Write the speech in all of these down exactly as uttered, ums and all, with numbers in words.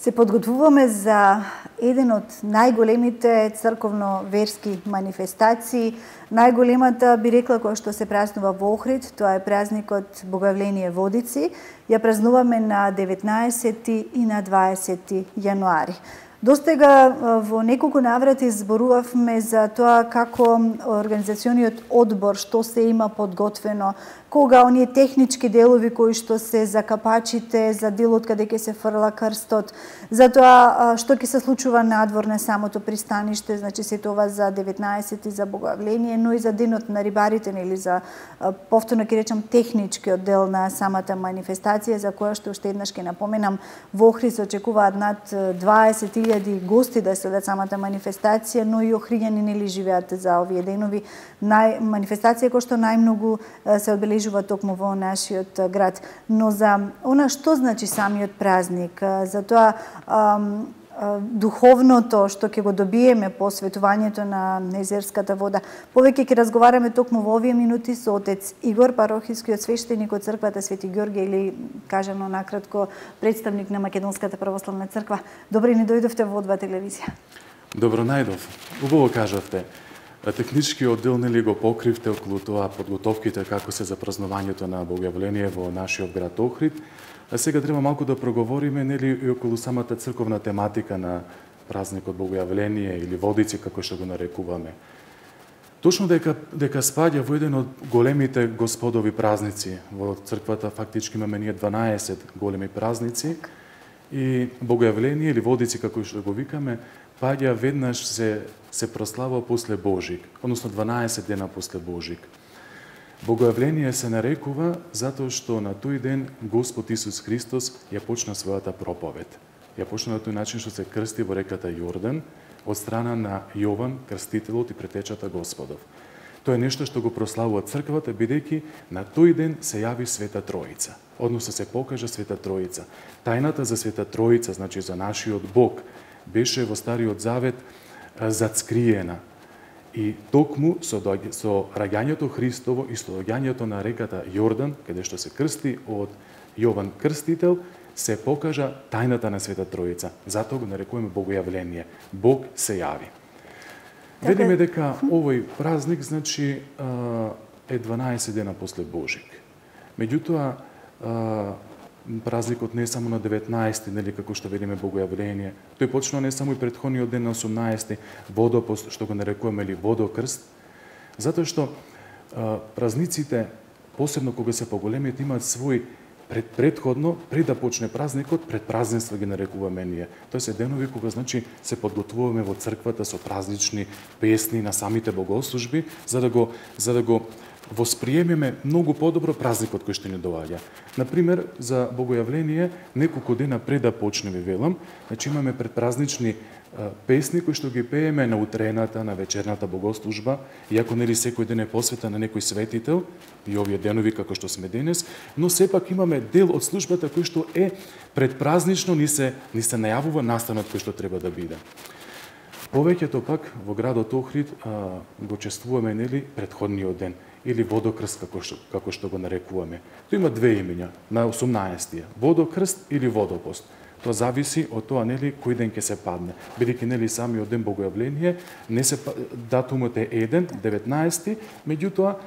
Се подготвуваме за еден од најголемите црковно-верски манифестации. Најголемата, би рекла, која што се празнува во Охрид, тоа е празникот Богојавление Водици. Ја празнуваме на деветнаесети и на дваесети јануари. Достега во неколку наврати зборувавме за тоа како организациониот одбор што се има подготвено, кога оние технички делови кои што се за капачите, за делот каде ќе се фрла крстот, за тоа што ќе се случува надвор на самото пристаниште, значи се тоа за деветнаесети за Богојавление, но и за денот на рибарите, или за повторно ќе речам техничкиот дел на самата манифестација, за која што уште еднаш ќе напоменам, во Охрид се очекуваат над дваесет илјади гости да следат самата манифестација, но и охриѓани нели живеат за овие денови. Нај манифестација која што најмногу се одбележува токму во нашиот град. Но за она што значи самиот празник, за тоа ам, духовното што ќе го добиеме по светувањето на езерската вода. Повеќе ќе разговараме токму во овие минути со отец Игор, парохискиот свештеник од црквата Свети Ѓорѓе, или кажано накратко представник на Македонската православна црква. Добре ни дојдовте во О два телевизија. Добро најдов. Убаво кажавте. Техничкиот дел нели го покривте околу тоа подготовките како се за празнувањето на Богојавление во нашиот град Охрид. А сега треба малку да проговориме нели и околу самата црковна тематика на празникот Богојавление или Водици како што го нарекуваме. Точно дека дека спаѓа во еден од големите господови празници. Во црквата фактички имаме ние дванаесет големи празници и Богојавление или Водици како што го викаме паѓа веднаш се се прославува после Божик, односно дванаесет дена после Божик. Богојавление се нарекува затоа што на тој ден Господ Исус Христос ја почна својата проповед. Ја почна на тој начин што се крсти во реката Јордан од страна на Јован, крстителот и претечата Господов. Тоа е нешто што го прославува црквата, бидејќи на тој ден се јави Света Троица, односно се покажа Света Троица. Тајната за Света Троица, значи за нашиот Бог, беше во Стариот Завет зацкриена. И токму со, со раѓањето Христово и со доаѓањето на реката Јордан, каде што се крсти од Јован Крстител, се покажа тајната на Света Троица. Затоа го нарекуваме Богојавление. Бог се јави. Видиме дека овој празник значи е дванаесет дена после Божик. Меѓутоа празникот не е само на деветнаесети, нели како што видиме Богојавление. Тој почнува не само и претходниот ден на осумнаесети, водопост, што го нарекуваме или водокрст, затоа што а, празниците, посебно кога се поголемите, имаат свој пред предходно, пред да почне празникот, пред празненства ги нарекуваме ние. Тоа се денови кога значи се подготвуваме во црквата со празнични песни на самите богослужби, за да го за да го восприемеме многу подобро празникот кој што ни доаѓа. Например, за Богојавление, неколку дена пред да почне, ви велам, значи имаме предпразнични а, песни кои што ги пееме на утрената, на вечерната богослужба, иако нели секој ден е посветен на некој светител, и овие денови како што сме денес, но сепак имаме дел од службата кој што е предпразнично ни се ни се најавува настанот кој што треба да биде. Повеќето пак во градот Охрид а, го чествуваме нели претходниот ден или водокрст како што како што го нарекуваме. Тоа има две имиња на осумнаесети, водокрст или водопост. Тоа зависи од тоа нели кој ден ќе се падне. Бидејќи нели самиот ден Богојавление не се датумот е еден, деветнаесети, меѓутоа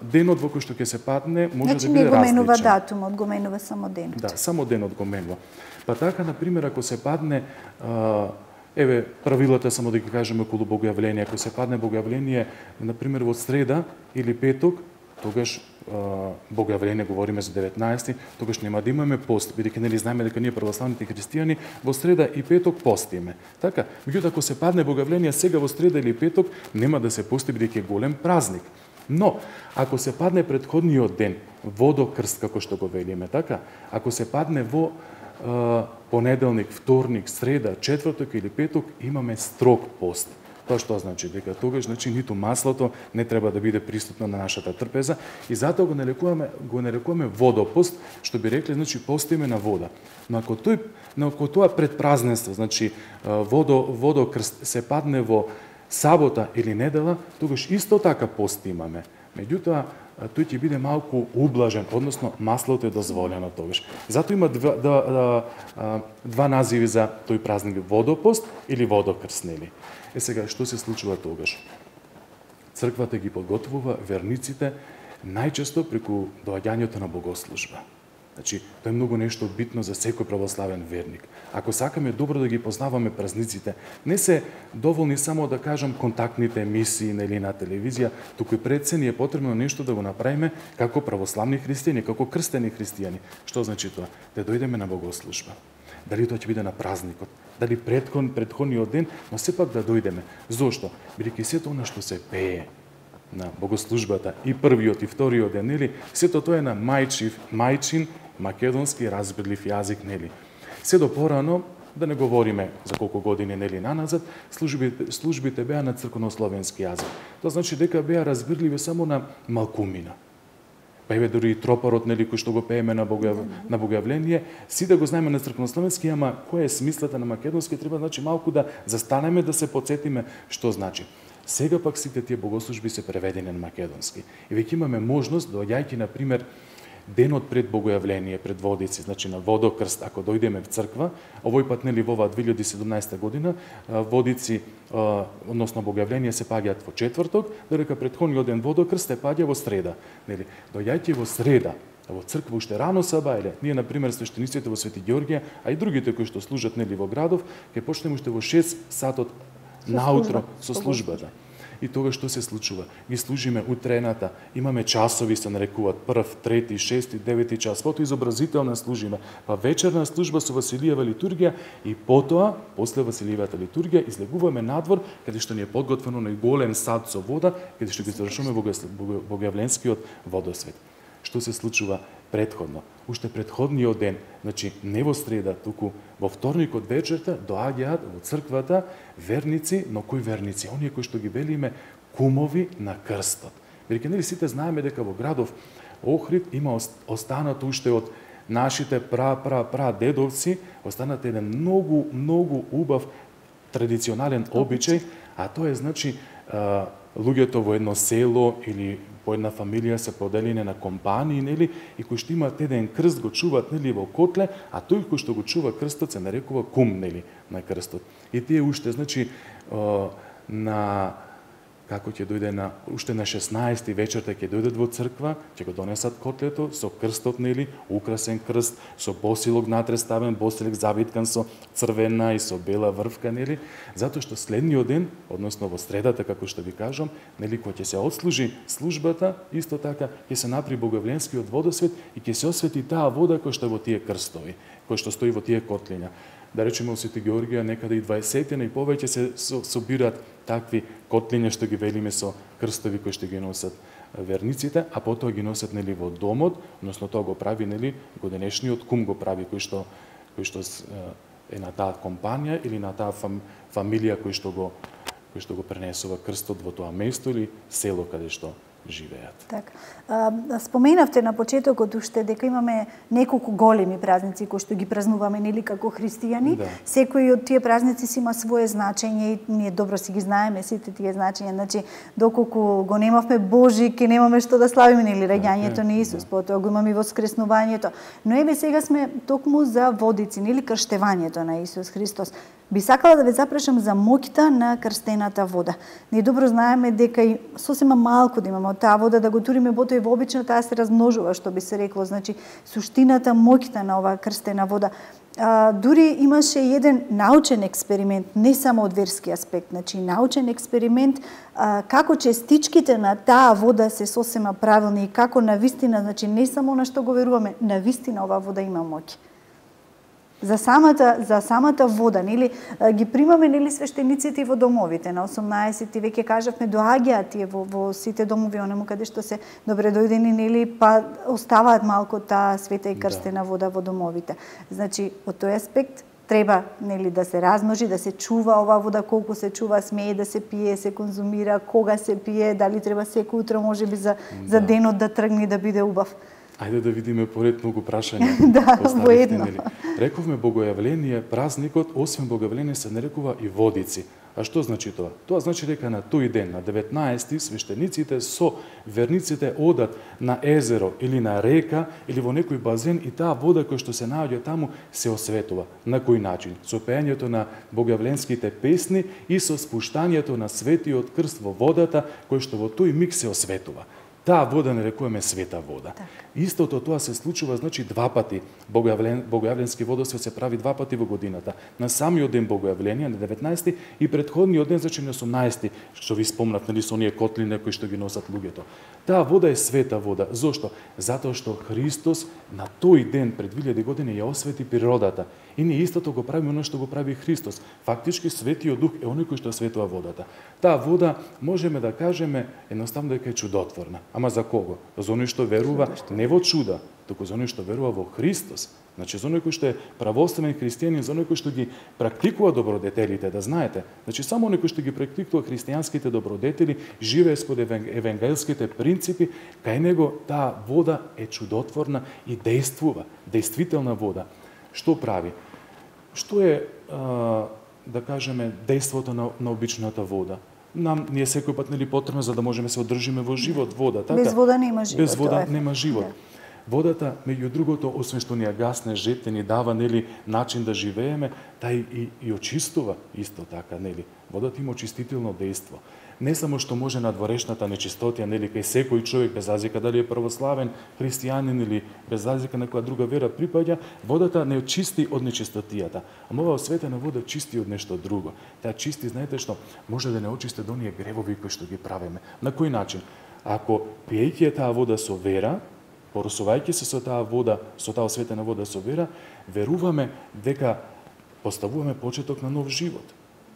денот во кој што ќе се падне може значи, да биде различен. Значи не го менува датумот, го менува само денот. Да, само денот го менува. Па така на пример ако се падне а, еве правилата само да ги кажеме околу Богојавление, ако се падне Богојавление на пример во среда или петок, тогаш Богојавление говориме за деветнаесети, тогаш нема да имаме пост, бидејќи нели знаеме дека ние православните христијани во среда и петок постиме. Така, меѓутоа ако се падне Богојавление сега во среда или петок, нема да се пости бидејќи е голем празник. Но ако се падне претходниот ден, водокрст како што го велиме, така, ако се падне во понеделник, вторник, среда, четврток или петок, имаме строг пост. Тоа што значи дека тогаш значи ниту маслото не треба да биде присутно на нашата трпеза и затоа го нарекуваме го нарекуваме водопост, што би рекле значи постиме на вода. Но ако тој но ако тоа предпразненство, значи водо водокрст се падне во сабота или недела, тогаш исто така пост имаме. Меѓутоа, тој ќе биде малку ублажен, односно маслото е дозволено тогаш. Зато има два, два, два, два називи за тој празник: водопост или водокрст, нели? Е сега, што се случува тогаш? Црквата ги подготвува верниците најчесто преку доаѓањето на богослужба. Значи, тоа е многу нешто битно за секој православен верник. Ако сакаме добро да ги познаваме празниците, не се доволни само да кажам контактните емисии нели на телевизија, туку и пред се ни е потребно нешто да го направиме како православни христијани, како крстени христијани. Што значи тоа? Да дојдеме на богослужба. Дали тоа ќе биде на празникот, дали предхон, предходниот ден, но сепак да дојдеме. Зошто? Бидејќи сето она што се пее на богослужбата и првиот и вториот ден, нели, сето тоа е на мајчин, мајчин македонски разбирлив јазик, нели. Се до порано, да не говориме за колку години, нели, наназад, службите, службите беа на црковнословенски јазик. Тоа значи дека беа разбирливи само на малкумина. Па еве дури и тропарот, нели, кој што го пееме на, бога, на богојавление, си да го знаеме на црковнословенски, ама која е смислата на македонски, треба значи малку да застанеме, да се потсетиме што значи. Сега пак сите тие богослужби се преведени на македонски. И веќе имаме можност, доаѓајќи, на пример, денот пред богојавление, пред водици, значи на водокрст, ако дојдеме в црква, овој пат, нели, во оваа две илјади и седумнаесета година, водици, односно богојавление се паѓаат во четврток, додека претходниот ден водокрст се паѓа во среда. Нели, доаѓајќи во среда, во црква уште рано сабајле, ние, на пример, свештениците во Свети Ѓорѓија, а и другите кои што служат, нели, во градов, ќе почнеме уште во шест сатот наутро со службата. И тога што се случува? Ги служиме утрената, имаме часови, се нарекуваат прв, трети, шести, девети час, потоа изобразителна служиме, па вечерна служба со Василијева литургија и потоа, после Василијевата литургија, излегуваме надвор, каде што ни е подготвено на голем сад со вода, каде што ги завршуваме богојавленскиот водосвет. Што се случува предходно? Уште предходниот ден, значи не во среда, туку во вторникот вечерта доаѓаат во црквата верници, но кои верници? Оние кои што ги велиме кумови на крстот. Бидејќи нели сите знаеме дека во градов Охрид има останато уште од нашите пра пра пра дедовци, останат еден многу многу убав традиционален обичај, а тоа е значи луѓето во едно село или по една фамилија се поделени на компании, нели, и кои што имаат еден крст го чуваат, нели, во котле, а тој кој што го чува крстот се нарекува кум, нели, на крстот. И тие уште, значи, на како ќе дојде на уште на шеснаесети вечерта ќе дојдат во црква, ќе го донесат котлето со крстот, нели, украсен крст, со босилок натре ставен, босилок завиткан со црвена и со бела врвка, нели, затоа што следниот ден, односно во средата, како што ви кажам, нели, кога ќе се отслужи службата, исто така ќе се направи богојавленскиот водосвет и ќе се освети таа вода која што е во тие крстови, која што стои во тие котлиња. Да речеме во Свети Ѓорѓија некаде и дваесет и повеќе се собираат такви котлиња што ги велиме со крстови кои што ги носат верниците, а потоа ги носат, нели, во домот, односно тоа го прави, нели, годинешниот кум го прави, кој што кој што е на таа компанија или на таа фам, фамилија кој што го кој што го пренесува крстот во тоа место или село каде што живеат. Так. Споменавте на почетокот уште дека имаме неколку големи празници кои што ги празнуваме, нели, како христијани. Да. Секој од тие празници си има свое значење и ние добро си ги знаеме сите тие значења. Значи, доколку го немавме Божик, ке немаме што да славиме, нели, раѓањето на Исус, да. Потоа го имаме и воскреснувањето. Но еве сега сме токму за водици, нели, крштевањето на Исус Христос. Би сакала да ве запрашам за моќта на крстената вода. Ние добро знаеме дека и сосема малку да имаме од таа вода да го туриме, потоа и вообично таа се размножува, што би се рекло, значи суштината, моќта на оваа крстена вода. А, дури имаше еден научен експеримент, не само од верски аспект, значи научен експеримент а, како честичките на таа вода се сосема правилни и како навистина, значи не само на што го веруваме, навистина оваа вода има моќ. За самата за самата вода, нели, ги примаме, нели, свештениците во домовите. На осумнаесети веќе кажавме доаѓаат тие во, во сите домови, онему каде што се добре дојдени, нели, па оставаат малку таа света и крстена да. Вода во домовите. Значи, од тој аспект треба, нели, да се размножи, да се чува оваа вода, колку се чува, смее да се пие, се конзумира, кога се пие, дали треба секој утро можеби за да. За денот да тргне да биде убав. Ајде да видиме поред многу прашања. Да, воедно. Рековме богојавление, празникот, освен богојавление се нарекува и водици. А што значи тоа? Тоа значи дека на тој ден, на деветнаесети, свештениците со верниците одат на езеро или на река или во некој базен и таа вода која што се наоѓа таму се осветува. На кој начин? Со пеењето на богојавленските песни и со спуштањето на светиот крст во водата кој што во тој миг се осветува. Таа вода нарекуваме света вода. Так. Истото тоа се случува, значи, два пати. Богојавлен, богојавленски водосвет се прави два пати во годината. На самиот ден богојавление, на деветнаесети, и претходниот ден, значи на осумнаесети, што ви спомнав, нали, со оние котлине кои што ги носат луѓето. Таа вода е света вода. Зошто? Затоа што Христос на тој ден пред две илјади години ја освети природата. И ние истото го правиме оно што го прави Христос. Фактички Светиот Дух е оној кој што осветува водата. Таа вода можеме да кажеме едноставно дека е чудотворна. Ама за кого? За оној што верува не во чуда, туку за оној што верува во Христос. Значи, за оној кој што е православен христијанин, за оној кој што ги практикува добродетелите, да знаете. Значи, само оној кој што ги практикува христијанските добродетели, живее спод евангелските принципи, кај него таа вода е чудотворна и действува, действителна вода. Што прави? Што е, а, да кажеме, действото на, на обичната вода? Нам ние секој пат нели потребно за да можеме се одржиме во живот вода, така? Без вода нема живот. Без вода е. нема живот. Да. Водата, меѓу другото, освен што ни ја гасне жете, ни дава нели начин да живееме, тај и, и очистува исто така, нели. Водата има очистително дејство. Не само што може на дворешната нечистотија, нели, кај секој човек, без разлика дали е православен, христијанин или без разлика на која друга вера припаѓа, водата не очисти од нечистотијата. Ама оваа осветена вода чисти од нешто друго. Таа чисти, знаете што, може да не очисти од оние гревови кои што ги правиме. На кој начин? Ако пиејќи таа вода со вера, поросувајќи се со таа вода, со таа осветена вода со вера, веруваме дека поставуваме почеток на нов живот.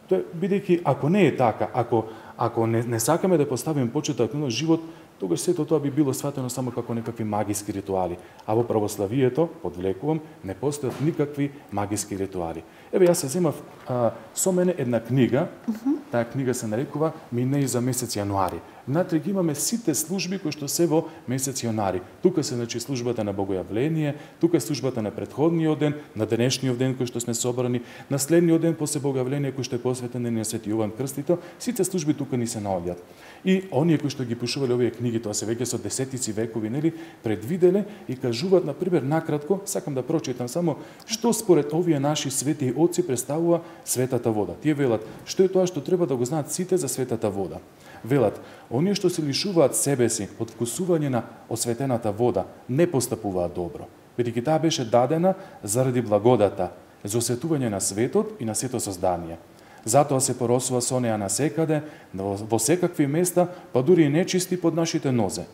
Тоа бидејќи ако не е така, ако ако не, не сакаме да поставиме почеток на нов живот, тогаш сето тоа би било сватено само како некакви магиски ритуали. А во православието, подвлекувам, не постојат никакви магиски ритуали. Еве, јас се земав а, со мене една книга, uh -huh. Таа книга се нарекува Минеи за месец јануари. Внатре ги имаме сите служби кои што се во месец јануари. Тука се, значи, службата на богојавление, тука е службата на претходниот ден, на денешниот ден кој што сме собрани, на следниот ден после богојавление кој што е посветен на Свети Јован Крстител, сите служби тука ни се наоѓаат. И оние кои што ги пишувале овие книги, тоа се веќе со десетици векови, нели, предвиделе и кажуваат, на пример, накратко, сакам да прочитам само што според овие наши свети отци представува светата вода. Тие велат, што е тоа што треба да го знаат сите за светата вода. Велат, оние што се лишуваат себе си од вкусување на осветената вода, не постапуваат добро, бидејќи таа беше дадена заради благодата, за осветување на светот и на сето создание. Затоа се поросува со неа насекаде, во секакви места, па дури и нечисти под нашите нозе.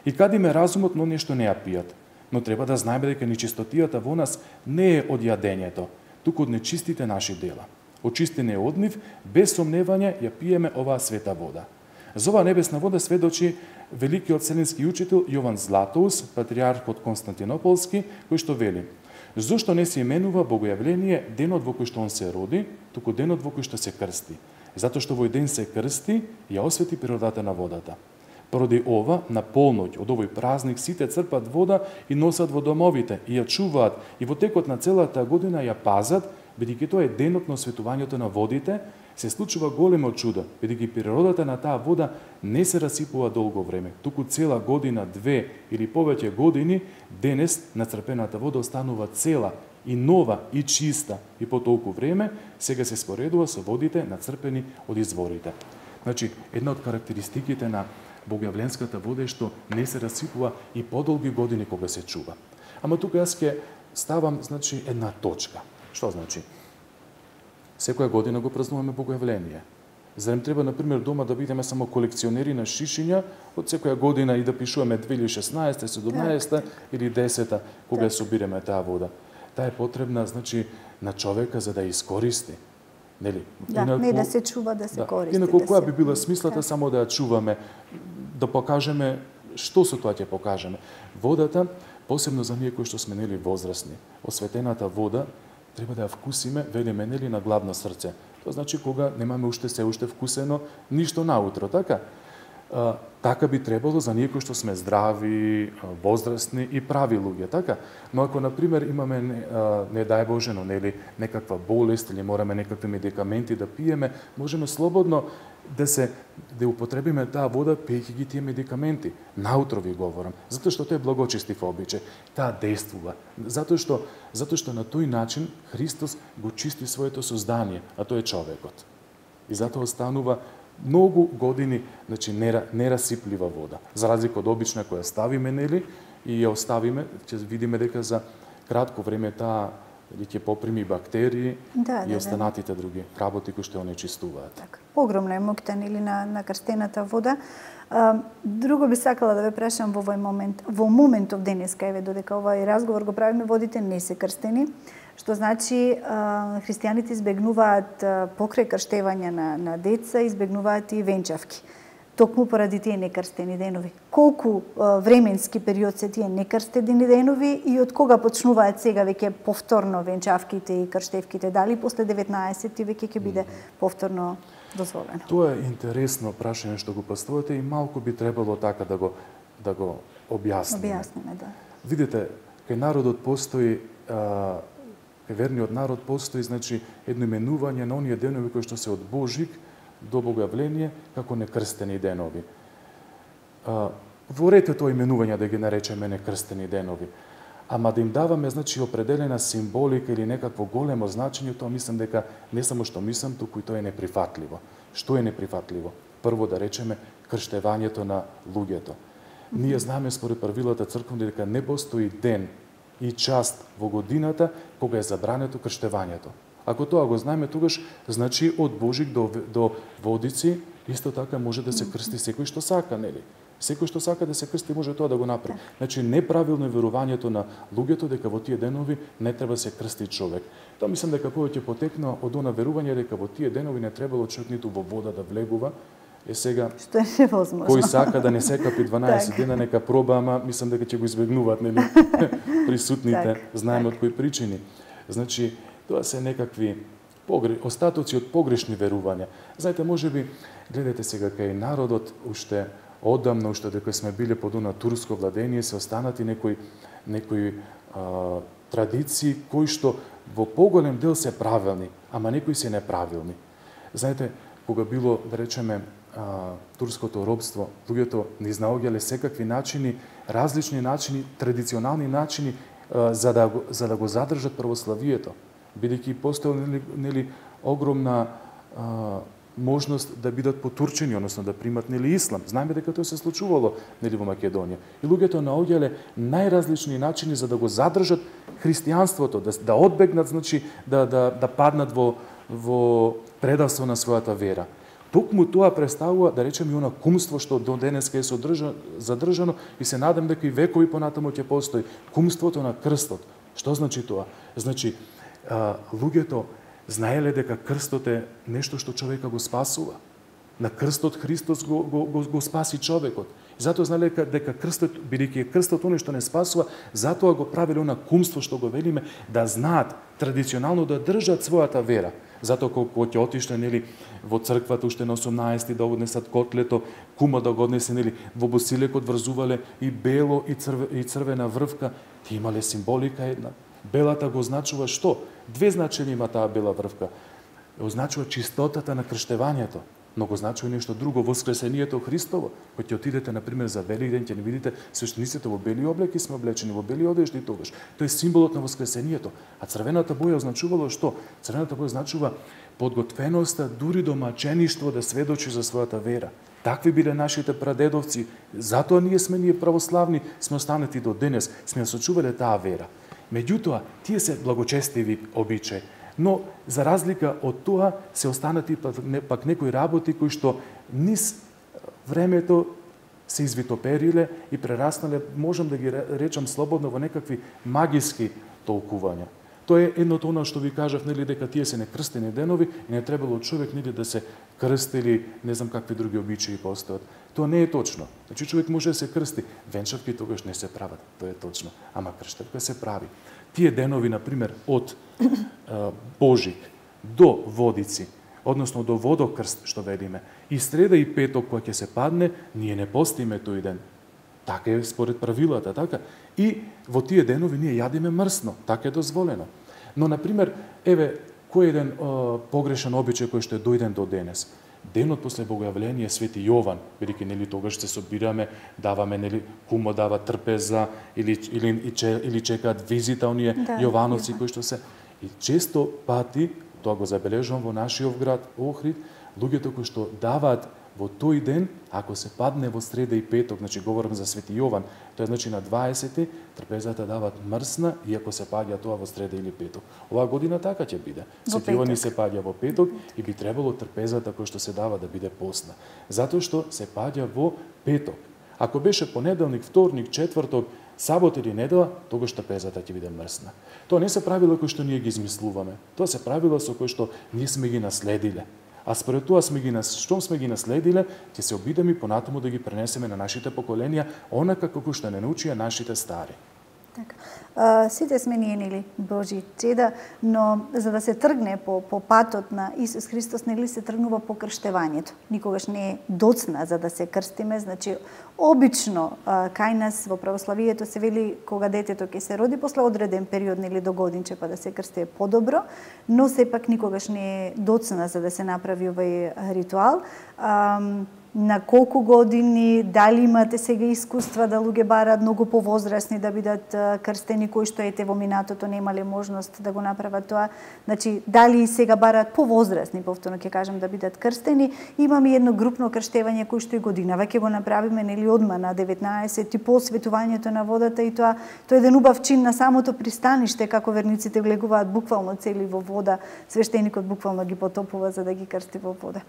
И кадиме разумот на оние што не ја пијат. Но треба да знаеме дека нечистотијата во нас не е од јадењето, туку од нечистите наши дела. Очистене од нив, без сомневање ја пиеме оваа света вода. За оваа небесна вода сведочи великиот вселенски учител Јован Златоус, патриархот Константинополски, кој што вели: зошто не се именува богојавление денот во кој што он се роди, туку денот во кој што се крсти? Затоа што овој ден се крсти, ја освети природата на водата. Поради ова, на полноќ од овој празник сите црпат вода и носат во домовите, и ја чуваат, и во текот на целата година ја пазат, бидејќи тоа е денот на осветувањето на водите, се случува големо чудо, бидејќи природата на таа вода не се расипува долго време, туку цела година, две или повеќе години, денес нацрпената вода останува цела и нова и чиста, и по толку време сега се споредува со водите нацрпени од изворите. Значи, една од карактеристиките на богојавленската вода е што не се расипува и подолги години кога се чува. Ама тука јас ќе ставам, значи, една точка. Што значи? Секоја година го празнуваме богојавление. Зарем треба, например, дома да бидеме само колекционери на шишиња од секоја година и да пишуваме две илјади и шеснаесета, седумнаесета или десета, кога ја собираме таа вода. Таа е потребна, значи, на човека за да ја искористи. Нели? Да, инако, не да се чува, да се да. користи. Инако, да која се... би била смислата да. само да ја чуваме, да покажеме, што со тоа ќе покажеме? Водата, посебно за ние кои што сме нели возрастни, осветената вода, треба да ја вкусиме, велиме, нели, на гладно срце. Тоа значи кога немаме уште се уште вкусено ништо наутро, така? А, така би требало за ние кои што сме здрави, возрастни и прави луѓе, така? Но ако, например, имаме, не, не дај Боже, но нели некаква болест или мораме некакви медикаменти да пиеме, можеме слободно да се да употребиме таа вода пиејќи ги тие медикаменти. Наутро ви говорам, затоа што тоа е благочестив обичај, таа действува. Затоа што затоа што на тој начин Христос го чисти своето создание, а тоа е човекот. И затоа останува многу години, значи нерасиплива вода. За разлика од обична која ставиме, нели, и ја оставиме, ќе видиме дека за кратко време таа ќе поприми бактерии да, и да, останатите да. други работи кои што онечистуваат. Так, огромна е моќта нели на на крстената вода. А, друго би сакала да ве прашам во овој момент, во моментов денеска, еве додека овој разговор го правиме, водите не се крстени, што значи а, христијаните избегнуваат а, покрај крштевање на на деца, избегнуваат и венчавки. Токму поради тие некрстени денови. Колку а, временски период се тие некрстени денови и од кога почнуваат сега веќе повторно венчавките и крштевките? Дали после деветнаесетти веќе ќе биде повторно дозволено? Тоа е интересно прашање што го поставувате и малку би требало така да го да го објасниме. Објасниме, да. Видите, кај народот постои а, кај верниот народ постои, значи, едно именување на оние денови кои што се од Божик до Богојавление како некрстени денови. А, ворете тоа именување да ги наречеме некрстени денови. Ама да им даваме, значи, определена символика или некакво големо значење, тоа мислам дека не само што мислам, туку и тоа е неприфатливо. Што е неприфатливо? Прво да речеме крштевањето на луѓето. Ние знаеме според правилата црквени дека не постои ден и част во годината кога е забрането крштевањето. Ако тоа го знаеме, тогаш значи од Божик до до Водици исто така може да се крсти секој што сака, нели? Секој што сака да се крсти може тоа да го направи. Значи неправилно е верувањето на луѓето дека во тие денови не треба да се крсти човек. Тоа мислам дека повеќе потекна од она верување дека во тие денови не требало човек ниту во вода да влегува. Е сега што е невозможно. Кој сака да не се капи дванаесет дена нека проба, ама мислам дека ќе го избегнуваат, нели? Присутните, знаеме од кои причини. Значи тоа се некакви погре... остатоци од погрешни верувања. Знаете, можеби гледате сега кај народот уште одамна, уште дека сме биле под она турско владение, се останати некои некои а, традиции кои што во поголем дел се правилни, ама некои се неправилни. Знаете, кога било, да речеме, а, турското робство, луѓето не изнаоѓале секакви начини, различни начини, традиционални начини а, за да за да го задржат православието, бидејќи постоела нели, нели огромна а, можност да бидат потурчени, односно да примат нели ислам. Знаеме дека тоа се случувало нели во Македонија. И луѓето наоѓале најразлични начини за да го задржат христијанството, да да одбегнат, значи да да да паднат во во предавство на својата вера. Токму тоа представува, да речеме, она кумство што до денеска е содржано, задржано и се надам дека и векови понатаму ќе постои кумството на крстот. Што значи тоа? Значи а, луѓето знаеле дека крстот е нешто што човека го спасува. На крстот Христос го, го, го, го спаси човекот. И затоа знаеле дека, дека крстот, бидејќи е крстот оно што не спасува, затоа го правиле она кумство што го велиме, да знаат традиционално да држат својата вера. Затоа кога ќе отишле нели во црквата уште на осумнаесети да однесат котлето, кума да го однесе нели во босилекот врзувале и бело и, црве, и црвена врвка, ти имале символика една. Белата го означува што? Две значења има таа бела врвка. Означува чистотата на крштевањето, но го значува нешто друго, воскресението Христово. Кога ќе отидете на пример за Великден, ќе не видите свештениците во бели облеки сме облечени, во бели одежди тогаш. Тоа е символот на воскресението. А црвената боја означувало што? Црвената боја означува подготвеноста дури до мачеништво да сведочи за својата вера. Такви биле нашите прадедовци. Затоа ние сме ние православни, сме останати до денес, сме сочувале таа вера. Меѓутоа, тие се благочестиви обичаи, но за разлика од тоа се останати пак, не, пак некои работи кои што низ времето се извитопериле и прераснале, можам да ги речам слободно, во некакви магиски толкувања. Тоа е едното она што ви кажав, нели, дека тие се некрстени денови и не требало човек нели да се крсти или не знам какви други обичаи постојат. Тоа не е точно. Значи човек може да се крсти, венчавки тогаш не се прават, тоа е точно, ама крштевка се прави. Тие денови, на пример, од е, Божик до Водици, односно до водокрст што ведиме. И среда и петок кога ќе се падне, ние не постиме тој ден. Така е според правилата, така. И во тие денови ние јадиме мрсно, така е дозволено. Но, например, еве, кој еден о, погрешен обичај кој што е дојден до денес? Денот после Богојавление Свети Јован, бидејќи нели тогаш се собираме, даваме нели кумо дава трпеза или или или чекаат визита оние да, Јовановци да. Кои што се и често пати тоа го забележувам во нашиот град Охрид, луѓето кои што даваат во тој ден, ако се падне во среда и петок, значи говорам за Свети Јован, тоа е значи на дваесети, трпезата даваат мрсна, иако се паѓа тоа во среда или петок. Оваа година така ќе биде. Свети Јован се паѓа во петок и би требало трпезата која што се дава да биде постна. Затоа што се паѓа во петок. Ако беше понеделник, вторник, четврток, сабот или недела, тогаш трпезата ќе биде мрсна. Тоа не се правила кои што ние ги измислуваме. Тоа се правила со кои што ние сме ги наследиле. А според тоа сме ги штом сме ги наследиле, ќе се обидеме понатаму да ги пренесеме на нашите поколенија, онака како што не научија нашите стари. Така. А, сите сме ние, нели, Божи чеда, но за да се тргне по, по патот на Исус Христос, нели се тргнува по крштевањето. Никогаш не е доцна за да се крстиме, значи обично а, кај нас во православието се вели кога детето ќе се роди после одреден период, нели до годинче, па да се крсти е подобро, но сепак никогаш не е доцна за да се направи овој ритуал. А, на колку години, дали имате сега искуства да луѓе бараат многу повозрасни да бидат крстени, кои што ете во минатото немале можност да го направат тоа. Значи, дали сега бараат повозрасни, повторно ќе кажам, да бидат крстени. Имаме едно групно крштевање кој што и годинава ќе го направиме, нели, одма на деветнаесети по осветувањето на водата, и тоа тоа е еден убав чин на самото пристаниште, како верниците влегуваат буквално цели во вода, свештеникот буквално ги потопува за да ги крсти во вода.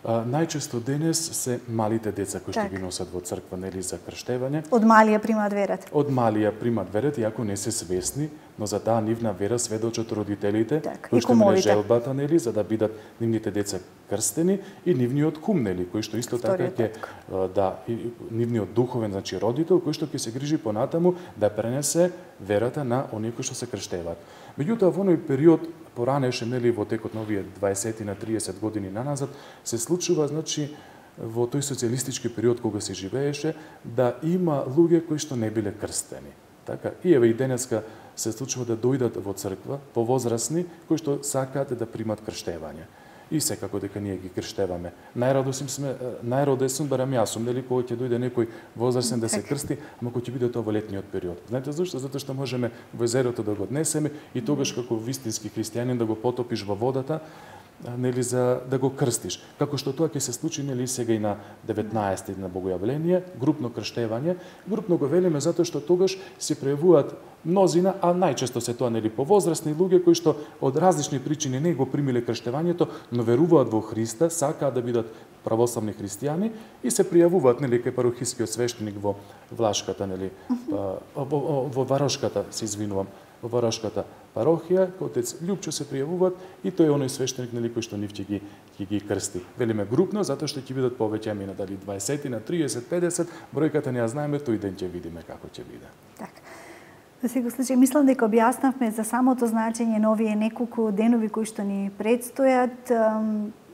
А, најчесто денес се малите деца кои што ги носат во црква, нели, за крштевање. Од малија примаат верата. Од малија примаат верата, иако не се свесни, но за таа нивна вера сведочат родителите, кои што имале желбата, нели, за да бидат нивните деца крстени, и нивниот кум, нели, кој што исто така ќе да и, нивниот духовен, значи родител, кој што ќе се грижи понатаму да пренесе верата на оние кои што се крштеваат. Меѓутоа, во оној период поранеше, нели, во текот на овие дваесет на триесет години наназад, се случува, значи, во тој социјалистички период кога се живееше, да има луѓе кои што не биле крстени. Така, и еве и денеска се случува да дојдат во црква повозрасни кои што сакаат да примат крштевање. И секако дека ние ги крштеваме. Најрадосен сме, најрадосен барам јас сум, нели, кога ќе дојде некој возрастен да се крсти, ама кој ќе биде тоа во летниот период. Знаете зашто? Затоа што можеме во езерото да го однесеме и тогаш како вистински христијанин да го потопиш во водата, нели, за да го крстиш. Како што тоа ќе се случи, нели, сега и на деветнаесети на Богојавление, групно крштевање. Групно го велиме затоа што тогаш се пројавуваат мнозина, а најчесто се тоа, нели, повозрасни луѓе кои што од различни причини не го примиле крштевањето, но веруваат во Христа, сакаат да бидат православни христијани и се пријавуваат, нели, кај парохискиот свештеник во Влашката, нели, во, во, во Варошката, се извинувам, во Варошката парохија, отец Љупчо се пријавуваат и тој е оној свештеник, нели, кој што нив ќе ги ќе ги крсти. Велиме групно затоа што ќе бидат повеќе амина, дали дваесет на тридесет, педесет, бројката не ја знаеме, тој ден ќе видиме како ќе биде. Така. Во секој случај, мислам дека објаснавме за самото значење на овие неколку денови кои што ни предстојат.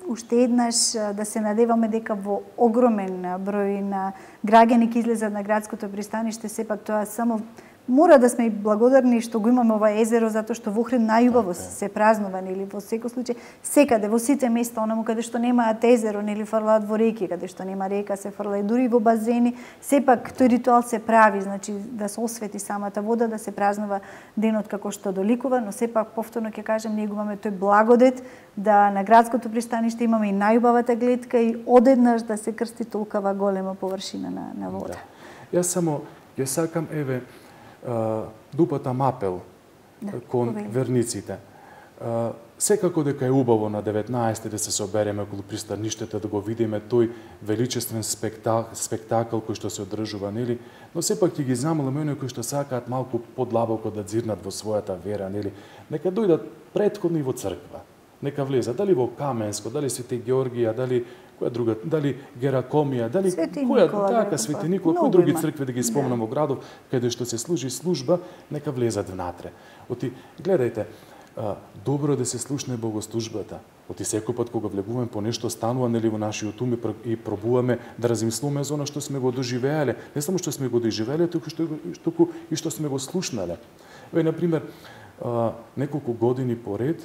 Уште еднаш да се надеваме дека во огромен број на граѓани ќе излезат на градското пристаниште, сепак тоа само мора да сме и благодарни што го имаме ова езеро, затоа што во Охрид најубаво се празнува, нели, во секој случај, секаде, во сите места, онаму каде што немаат езеро, нели, фрлаат во реки, каде што нема река, се фрла и дури во базени, сепак тој ритуал се прави, значи да се освети самата вода, да се празнува денот како што доликува, но сепак повторно ќе кажам, ние го имаме тој благодет да на градското пристаниште имаме и најубавата гледка и одеднаш да се крсти толкова голема површина на, на вода. Да. Јас само ја сакам, еве, дупатам апел да, кон повели. Верниците. Секако дека е убаво на деветнаесети да се собереме околу пристаништето, да го видиме тој величествен спектакл, спектакл кој што се одржува, нели? Но сепак ќе ги замолиме оние кои што сакаат малку подлабоко да дзирнат во својата вера, нели? Нека дојдат претходно и во црква. Нека влезат, дали во Каменско, дали Свети Георгија, дали која друга, дали Геракомија, дали Свети која Никола, така Свети Никола, кои други цркви да ги спомнам во градов, каде што се служи служба, нека влезат внатре. Оти, гледајте, добро да се слушне богослужбата. Оти секој пат кога влегуваме по нешто станува нели во нашиот ум и пробуваме да размислуваме за она што сме го доживеале, не само што сме го доживеале, туку што туку и што сме го слушнале. Еве на пример, неколку години поред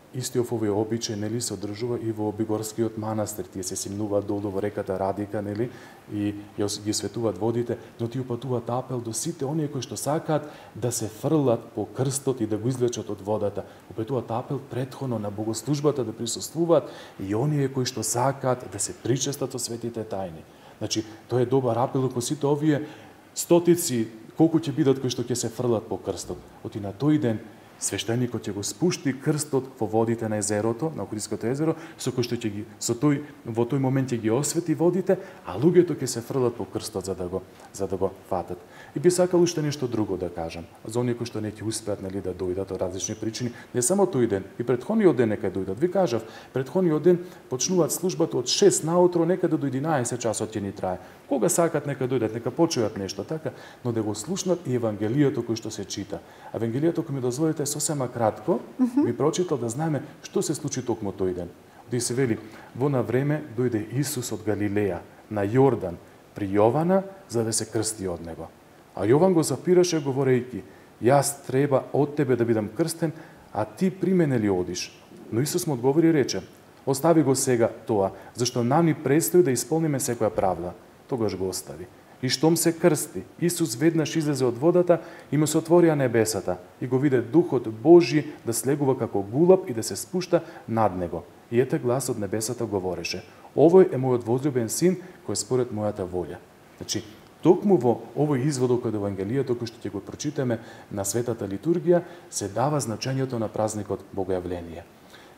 истиот овој обичај нели се одржува и во Бигорскиот манастир. Тие се симнуваат долу во реката Радика нели и ги светуваат водите, но тие упатуваат апел до сите оние кои што сакаат да се фрлат по крстот и да го извлечат од водата. Упатуваат апел претходно на богослужбата да присуствуваат и оние кои што сакаат да се причестат со светите тајни. Значи, тоа е добар апел кон сите овие стотици колку ќе бидат кои што ќе се фрлат по крстот. Оти на тој ден свештеникот ќе го спушти крстот во водите на езерото, на Охридското езеро, со кој што ќе ги со тој во тој момент ќе ги освети водите, а луѓето ќе се фрлат по крстот за да го за да го фатат. И би сакал уште нешто друго да кажам. За оние кои што не ќе успеат нели да дојдат од различни причини, не само тој ден, и претходниот ден нека дојдат. Ви кажав, претходниот ден почнуваат службата од шест наутро, некаде до единаесет часот ќе ни трае. Кога сакат нека дојдат, нека почујат нешто така, но да го слушнат и евангелието кој што се чита. Евангелието кој ми дозволите сосема кратко, ми прочитал да знаеме што се случи токму тој ден. Оди се вели, во на време дојде Исус од Галилеја на Јордан при Јована за да се крсти од него. А Јован го запираше говорејќи: јас треба од тебе да бидам крстен, а ти при мене ли одиш? Но Исус му одговори и рече: остави го сега тоа, зашто нам ни престои да исполниме секоја правда. Тогаш го остави. И штом се крсти, Исус веднаш излезе од водата и му се отворија небесата и го виде Духот Божи да слегува како гулаб и да се спушта над него. И ете глас од небесата говореше: овој е мојот возлюбен син кој е според мојата волја. Значи, токму во овој изводок од Евангелието кој што ќе го прочитаме на светата литургија се дава значењето на празникот Богојавление.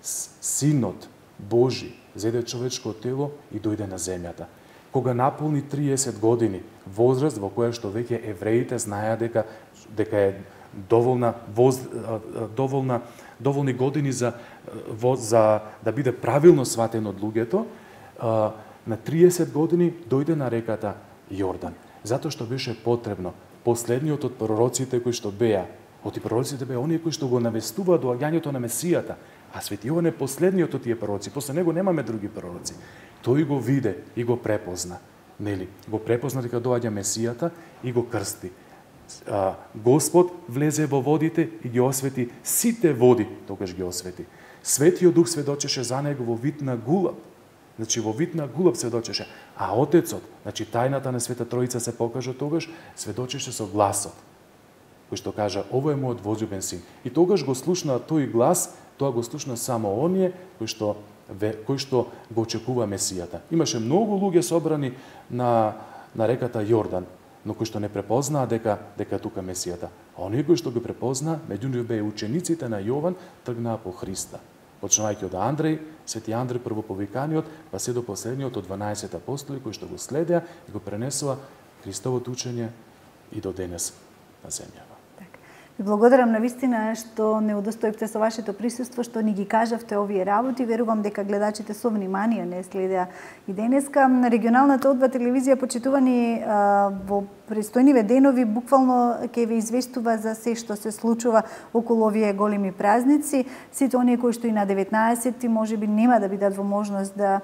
Синот Божи зеде човечко тело и дојде на земјата. Кога наполни триесет години, возраст во која што веќе евреите знаеа дека дека е доволна воз, доволна доволни години за за да биде правилно сватен од луѓето, на триесет години дојде на реката Јордан, затоа што беше потребно последниот од пророците кои што беа, од и пророците беа оние кои што го навестуваат доаѓањето на Месијата, а Свети Јован е последниот од тие пророци, после него немаме други пророци. Тој го виде и го препозна, нели? Го препозна дека доаѓа Месијата и го крсти. А, Господ влезе во водите и ги освети сите води, тогаш ги освети. Светиот Дух сведочеше за него во вид на гулаб. Значи во вид на гулаб сведочеше, а Отецот, значи тајната на Света Троица се покажа тогаш, сведочеше со гласот, кој што кажа: овој е мојот возлюбен син. И тогаш го слушна тој глас, тоа го слушна само оние кои што кој што го очекува Месијата. Имаше многу луѓе собрани на на реката Јордан, но кои што не препознаа дека дека тука Месијата. А оние кои што го препознаа, меѓу нив беа учениците на Јован, тргнаа по Христа. Почнувајќи од Андреј, Свети Андреј првоповиканиот, па се до последниот од дванаесет апостоли кои што го следеа и го пренесува Христовото учење и до денес на земјава. Ви благодарам на вистина што не удостоивте со вашето присуство, што ни ги кажавте овие работи. Верувам дека гледачите со внимание не следеа и денеска. Регионалната О два телевизија, почитувани во престојниве денови, буквално ќе ви известува за се што се случува околу овие големи празници. Сите оние кои што и на деветнаесетти можеби нема да бидат во можност да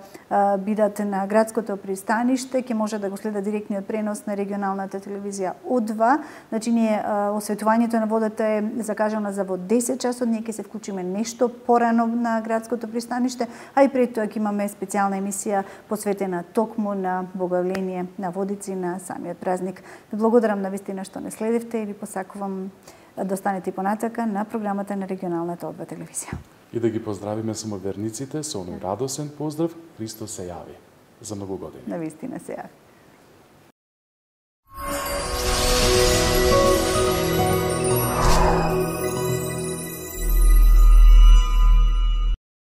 бидат на градското пристаниште, ќе може да го следат директниот пренос на регионалната телевизија О два. Значи, ние осветувањето на водата е закажано за во десет часот, ние ќе се вклучиме нешто порано на градското пристаниште, а и пред тоа ќе имаме специјална емисија посветена токму на Богојавление на водици на самиот празник. Ви благодарам на вистина што не следевте и ви посакувам да останете понатака на програмата на регионалната О два телевизија. И да ги поздравиме само верниците со оној радосен поздрав: Христос се јави. За многу години. На вистина се јави.